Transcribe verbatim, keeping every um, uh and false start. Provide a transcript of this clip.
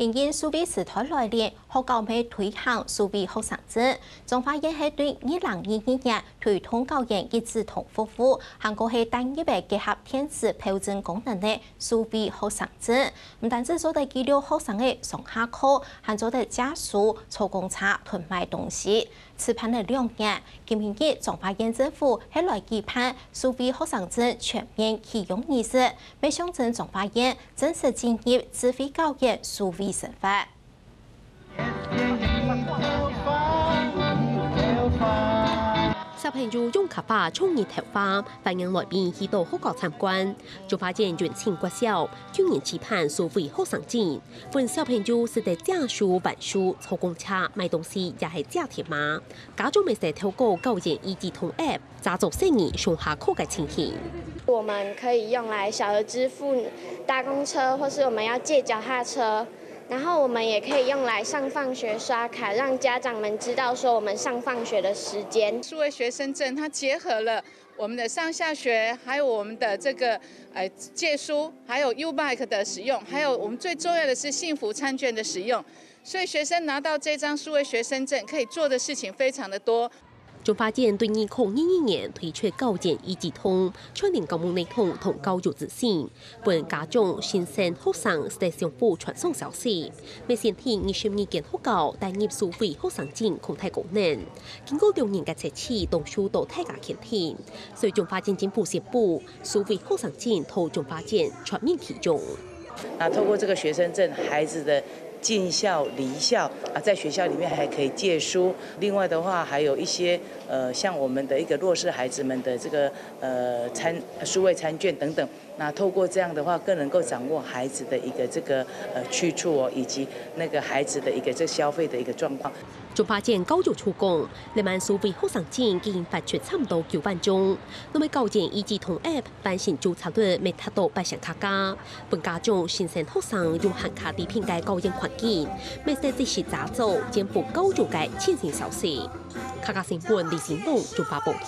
因應數位時代來臨，學校乜推行數位學生證。彰化縣係對二零二二年推動校園一指通服務，還過係單一个結合電子票證功能个數位學生證，毋單止做得記錄學生个上下課，還做得借書、坐公車同買東西。試辦了兩年，今晡日彰化縣政府係來舉辦數位學生證全面啟用儀式，乜象徵彰化縣正式進入智慧校園數位生活。小朋友用客話唱日頭話，歡迎來賓去到學校參觀。彰化縣雲林國小舊年試辦數位學生證，分小朋友使得借書、還書、坐公車、買東西，也係借電話。家長乜使透過校園一指通app，查找細人上下課个情形。我们可以用来小额支付搭公车，或是我们要借脚踏车。然后我们也可以用来上放学刷卡，让家长们知道说我们上放学的时间。数位学生证它结合了我们的上下学，还有我们的这个呃借书，还有 U-Bike 的使用，还有我们最重要的是幸福餐券的使用。所以学生拿到这张数位学生证，可以做的事情非常的多。彰化县对二零二二年推出校园一指通，全程校务系统同教育资讯，分家长、先生、学生得相互传送消息。乜先天二十二间学校带入数位学生证控台功能，经过六年个测试，当初都大家肯定。所以彰化县政府宣布，数位学生证透彰化县全面启用。那透过这个学生证，孩子的进校、离校啊，在学校里面还可以借书。另外的话，还有一些呃，像我们的一个弱势孩子们的这个呃餐数位餐券等等。那透过这样的话，更能够掌握孩子的一个这个呃去处哦，以及那个孩子的一个这消费的一个状况。彰化县教育处讲，这满数位学生证已经发出差不多九万张，那么校园一指通app办成注册率乜达到八成加加，分家长、先生、学生用限卡利便个校园环境，乜使得即时查找政府教育个最新消息。客家新闻李新龙彰化报道。